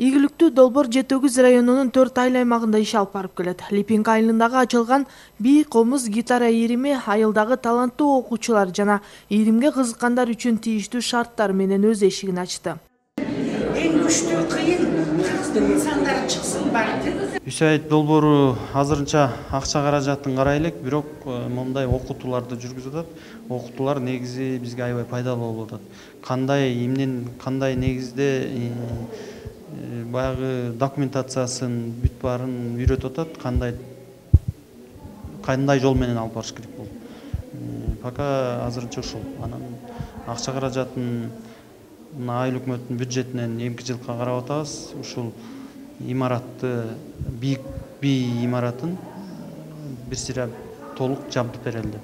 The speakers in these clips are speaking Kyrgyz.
Ийгиликтүү долбоор Жетөгүз районунун 4 айыл аймагында иш алып барып келет. Липинг айылындагы ачылган бий комуз гитара ирими айылдагы таланттуу окуучулар жана иримге кызыккандар үчүн тийиштүү шарттар менен өз эшигин ачты. Эң күчтүү кыйын кыргыздын инсандары чыксын барды. USAID долбоору азырынча акча каражатын карай элек, бирок мондай окутууларды жүргүзүп атат. Окутуулар негизи бизге аябай пайдалуу болуп атат. Кандай негизде баягы документациясын бүт баарын үйрөтүп атат, кандай жол менен алып барыш керек болуп. Пока азырынча ушул. Анан акча каражатын айыл өкмөттүн бюджетинен эмки жылга карап атабыз. Ушул имаратты, бий имаратын бир сыйра толук жабдып берели деп.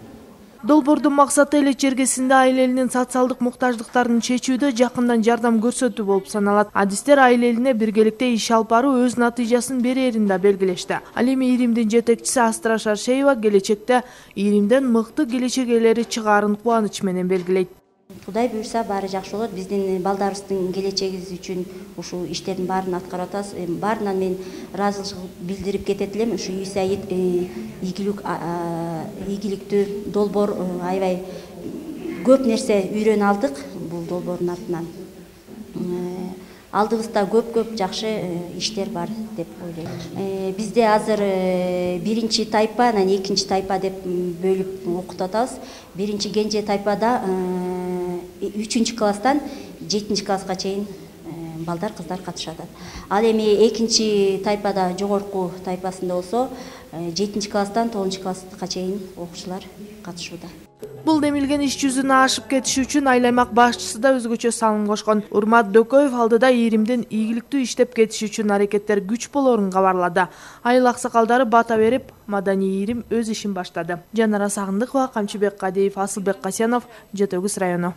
Долбоордун максаты эле чергесинде айыл элинин социалдык муктаждыктарын чечүүдө жакындан жардам көрсөтүү болуп саналат. Адистер айыл элине биргеликте иш алып баруу өз натыйжасын берерин да белгилешти. Ал эми иримдин жетекчиси Астра Шаршеева келечекте иримден мыкты келечек ээлери чыгаарын кубаныч менен белгилейт. Кудай буйрса баары жакшы болот. Биздин балдарыбыздын келечегибиз үчүн ушул иштердин баарын аткарып атабыз. Баарынан мен ыраазычылык билдирип кетет элем. Ушу USAID ийгиликтүү долбоор аябай көп нерсе үйрөнүп алдык бул долбоордун артынан. Алдыбызда көп жакшы иштер бар деп ойлойм. Бизде азыр биринчи тайпа, анан экинчи тайпа деп бөлүп окутуп атабыз. Биринчи кенже тайпада 3-класстан 7-класска чейин балдар, кыздар катышат. Ал эми экинчи тайпада жогорку тайпасында болсо 7-класстан 9-класска чейин окуучулар катышууда. Бул демилген иш жүзүнө ашып кетиши үчүн айыл аймак башчысы да өзгөчө салым кошкон. Урмат Дөкөев алдыда иримдин ийгиликтүү иштеп кетиши үчүн аракеттер күч болорун кабарлады. Айыл аксакалдары бата берип, маданий ирим өз ишин баштады. Жанара Сагындыкова, Камчыбек Кадиев, Асылбек Касенов, Жетөгүз району.